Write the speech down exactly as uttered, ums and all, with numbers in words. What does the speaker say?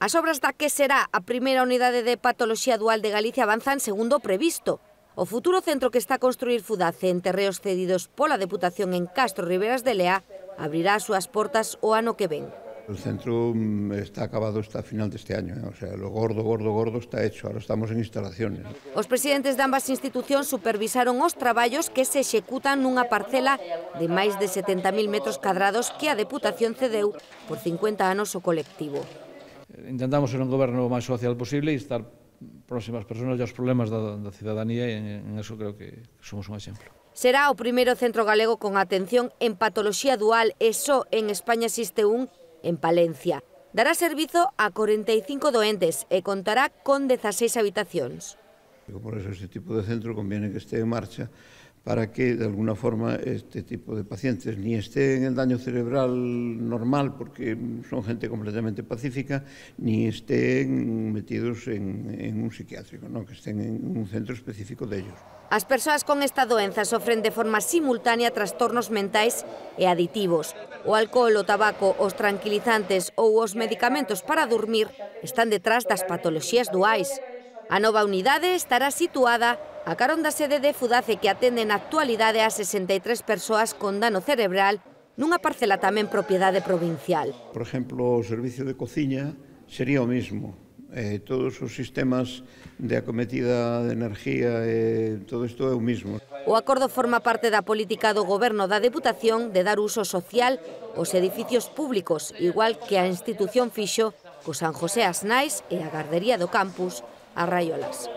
As obras da que será a primeira unidade de patoloxía dual de Galicia avanzan segundo o previsto. O futuro centro que está a construir Fudace en terreos cedidos pola Deputación en Castro Riberas de Lea abrirá as súas portas o ano que ven. El centro está acabado hasta final deste año, ¿eh? O sea, lo gordo, gordo, gordo está hecho, ahora estamos en instalaciones. Os presidentes de ambas institucións supervisaron os traballos que se executan nunha parcela de máis de setenta mil metros cadrados que a Deputación cedeu por cincuenta anos o colectivo. Intentamos ser un goberno máis social posible e estar próximas persoas e aos problemas da, da cidadanía, e en, en eso creo que somos un exemplo. Será o primeiro centro galego con atención en patoloxía dual e só en España existe un en Palencia. Dará servizo a corenta e cinco doentes e contará con dezaseis habitacións. Por eso este tipo de centro conviene que esté en marcha para que, de alguna forma, este tipo de pacientes ni estén en el daño cerebral normal, porque son gente completamente pacífica, ni estén metidos en, en un psiquiátrico, ¿no? Que estén en un centro específico de ellos. As persoas con esta doenza sofren de forma simultánea trastornos mentais e aditivos. O alcohol, o tabaco, os tranquilizantes ou os medicamentos para dormir están detrás das patoloxías duais. A nova unidade estará situada a carón da sede de Fudace, que atende na actualidade a sesenta e tres persoas con dano cerebral nunha parcela tamén propiedade provincial. Por exemplo, o servicio de cociña sería o mismo. Eh, todos os sistemas de acometida de energía, eh, todo isto é o mismo. O acordo forma parte da política do Goberno da Deputación de dar uso social aos edificios públicos, igual que a institución fixo co San José As Nais e a Gardería do Campus, a Raiolas.